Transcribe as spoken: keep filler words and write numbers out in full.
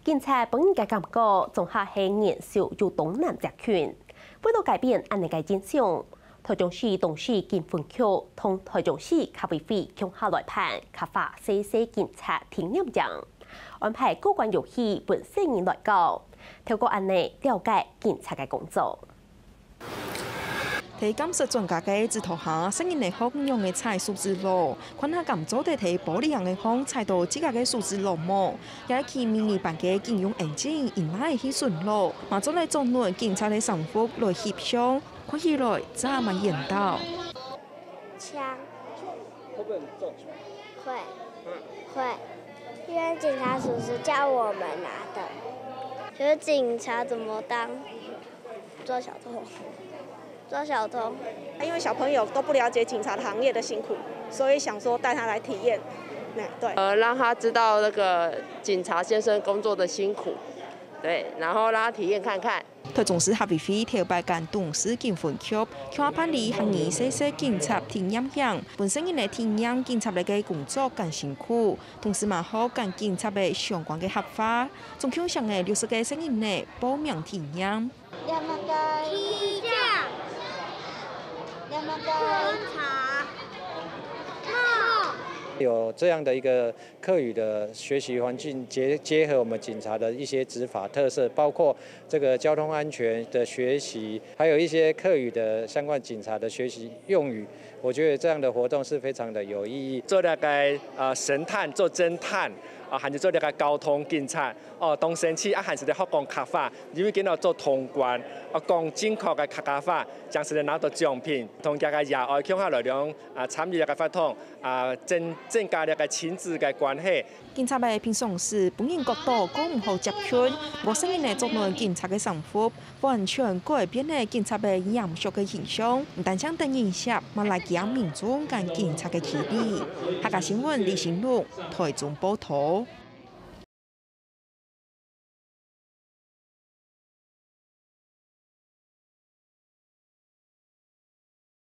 警察分人个感覺，總下係年少又當難接近。為了改變恁呢个印象，台中市東勢警分局同台中市客委會共下來辦客話細細警察體驗營，安排過關遊戲分細人來搞，透過恁呢了解警察个工作。 在鑑識專家个指導下，細人仔學仰仔踩手指螺，看下敢做得在玻璃罌仔項踩到自家个手指螺無。也去迷你班个警用眼鏡，因哪會去巡邏，嘛做得著等警察个衫服來翕相，看起來真蠻緣投。槍。會不會很重？會，會，因為警察叔叔叫我們拿的。覺得警察怎麼當？ 抓小偷，抓小偷。因為小朋友都不了解警察的行業的辛苦，所以想說帶他來體驗。那，對。呃，讓他知道那個警察先生工作的辛苦，對，然後讓他體驗看看。台中市客委會頭擺跟東勢警分局共下辦理客語細細警察體驗營，分細人仔體驗警察个工作恁辛苦，同時嘛學跟警察个相關个客話，總共上了六十个細人仔報名體驗。 有這樣的一個客語的學習環境，結，結合我們警察的一些執法特色，包括這個交通安全的學習，還有一些客語的相關警察的學習用語，我覺得這樣的活動是非常的有意義。做這個，呃，神探，做偵探，啊，還有做這個交通警察，哦，當生趣，啊，還係得學講客話，因為今日做通關，啊，講正確个客家話，正係得拿到獎品，同這個爺哀共下來兩 啊，參與這個活動，啊，增，增加這個親子个關係。警察仔平常時分人覺到過毋好接近，無細人仔著等警察个衫服，完全改變了警察个嚴肅个形象，毋單淨得人惜，嘛拉近民眾跟警察个距離。客家新聞李新祿，台中報導。